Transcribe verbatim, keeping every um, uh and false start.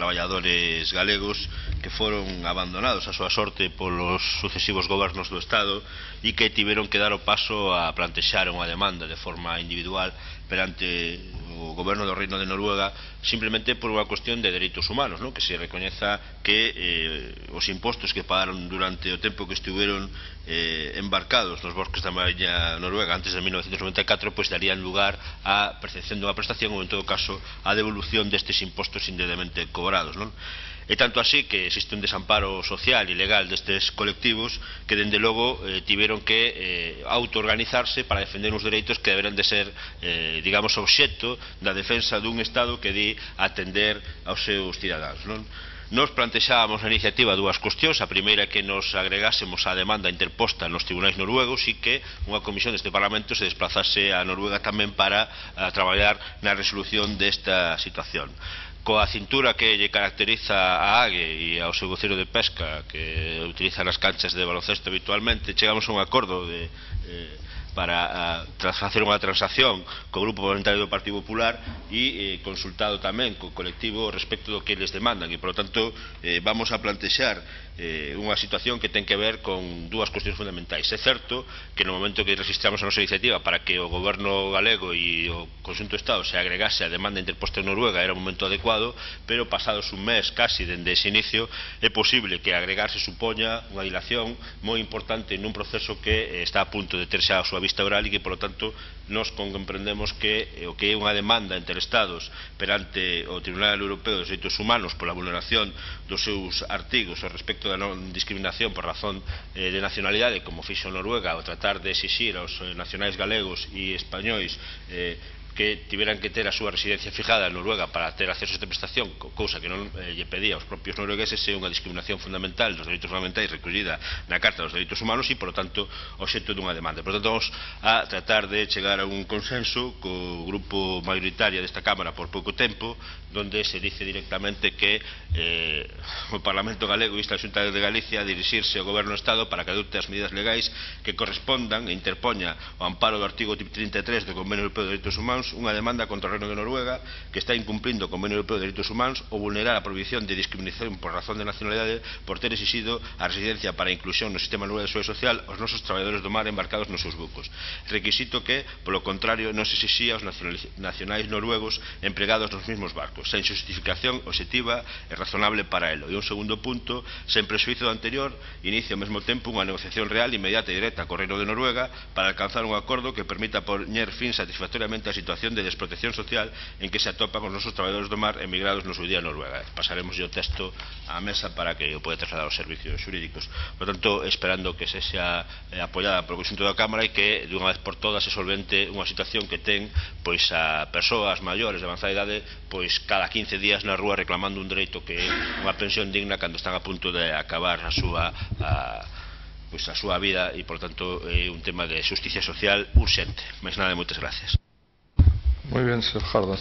traballadores galegos que foron abandonados a súa sorte polos sucesivos gobernos do Estado e que tiveron que dar o paso a plantexar unha demanda de forma individual perante o goberno do Reino de Noruega, simplemente por unha cuestión de dereitos humanos, ¿no? Que se recoñeza que eh, os impostos que pagaron durante o tempo que estiveron eh, embarcados nos bosques da Mariña Noruega antes de mil novecentos noventa e catro, pois darían lugar á percepción dunha prestación ou, en todo caso, á devolución destes impostos indebidamente cobrados, non? E tanto así que existe un desamparo social e legal destes colectivos que, dende logo, eh, tiveron que eh, autoorganizarse para defender uns dereitos que deberán de ser, eh, digamos, obxecto da defensa dun Estado que di atender aos seus cidadáns, non? Nos plantexábamos na iniciativa dúas cuestións. A primeira é que nos agregásemos á demanda interposta nos tribunais noruegos e que unha comisión deste Parlamento se desplazase a Noruega tamén para a traballar na resolución desta situación. Coa cintura que lle caracteriza a AGE e ao seu voceiro de pesca, que utiliza nas canchas de baloncesto habitualmente, chegamos a un acordo de, eh, para a, facer unha transacción co Grupo Parlamentario do Partido Popular e eh, consultado tamén co colectivo respecto do que les demandan, e, por lo tanto, eh, vamos a plantexar eh, unha situación que ten que ver con dúas cuestións fundamentais. É certo que no momento que registramos a nosa iniciativa para que o goberno galego e o conxunto do Estado se agregase a demanda interposta en Noruega era un momento adecuado, pero pasados un mes casi dende ese inicio é posible que agregarse supoña unha dilación moi importante nun proceso que eh, está a punto de ter xa a súa vista oral e que, por lo tanto, nos comprendemos que eh, o que é unha demanda entre Estados perante o Tribunal Europeo dos Dereitos Humanos pola vulneración dos seus artigos ao respecto da non discriminación por razón eh, de nacionalidade, como fixo Noruega ao tratar de exixir aos eh, nacionais galegos e españois eh, que tiveran que ter a súa residencia fijada en Noruega para ter acceso a esta prestación, cousa que non eh, lle pedía aos propios noruegueses, é unha discriminación fundamental dos dereitos fundamentais recollida na Carta dos Dereitos Humanos e, por lo tanto, obxecto dunha demanda. Por lo tanto, vamos a tratar de chegar a un consenso co grupo mayoritario desta Cámara por pouco tempo, donde se dice directamente que eh, o Parlamento Galego insta a Xunta de Galicia a dirixirse ao Goberno do Estado para que adopte as medidas legais que correspondan e interpoña o amparo do artigo trinta e tres do Convenio Europeo de Dereitos Humanos unha demanda contra o Reino de Noruega que está incumplindo o Convenio Europeo de Dereitos Humanos ou vulnerar a prohibición de discriminación por razón de nacionalidade por ter exixido a residencia para a inclusión no sistema noruego de seguridade social aos nosos traballadores do mar embarcados nos seus bucos, requisito que, polo contrario, non se exixía aos nacionais noruegos empregados nos mesmos barcos, sen justificación obxectiva e razonable para elo. E un segundo punto, sen prexuízo do anterior, inicia ao mesmo tempo unha negociación real, inmediata e directa co Reino de Noruega para alcanzar un acordo que permita poñer fin satisfactoriamente a situación de desprotección social en que se atopan os nosos traballadores do mar emigrados no seu día a Noruega. Pasaremos o texto á mesa para que o poda trasladar aos servicios xurídicos. Por tanto, esperando que se xa eh, apoiada polo conxunto da Cámara e que, de unha vez por todas, se solvente unha situación que ten pois a persoas maiores de avanzada idade pois cada quince días na rúa reclamando un dereito que é unha pensión digna cando están a punto de acabar a súa a, pois a súa vida e, por tanto, é un tema de xusticia social urxente. Mais nada, moitas gracias. Muy bien, señor Jardón.